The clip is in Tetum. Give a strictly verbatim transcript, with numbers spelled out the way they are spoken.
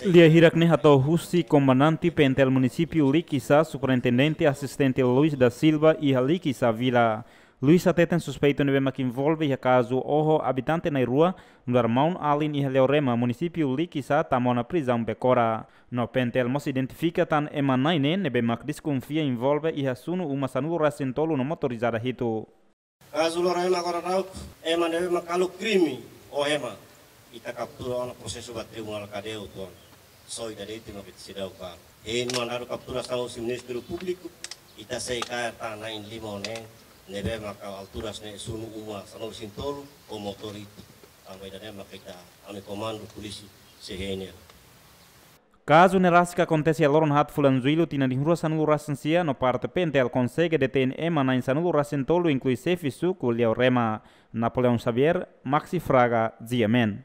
Lia hirak ne'e hato'o husi Komandante P N T L Munisípiu Likisá, Superintendente Asistente Luis da Silva, iha Likisá Vila. Luis hateten suspeitu ne'ebé mak envolve iha kazu oho abitante na'in-rua, nu'udar maun-alin iha Leorema, Munisípiu Likisá, tama ona prizaun Becora. No P N T L mós identifika tan ema na'in ne'e ne'ebé mak deskonfia envolve iha sunu uma sanulu-resin-tolu no motorizada hitu. Kazu Leorema agora daudaun, ema ne'ebé mak halo krime oho ema, ita kaptura ona, prosesu ba Tribunál Kadeia uitoan. Só ida de'it mak ita seidauk kaer. Hein mandadu kapturasaun husi Ministériu Públiku, ita sei kaer tan na'in-lima ne'e, ne'ebé mak altura ne'e sunu uma sanulu-resin-tolu, ho motór hitu. Tanba ida-ne'e mak ita, ami komandu polísia sei hein hela. Kazu ne'e rasik akontese iha loron haat fulan Jullu tinan rihun rua sanulu-resin-sia, no parte P N T L konsege detein ema na'in sanulu-resin-tolu, inklui xefe suku Leorema. Napoleão Xavier, Maxi Fraga, G M N.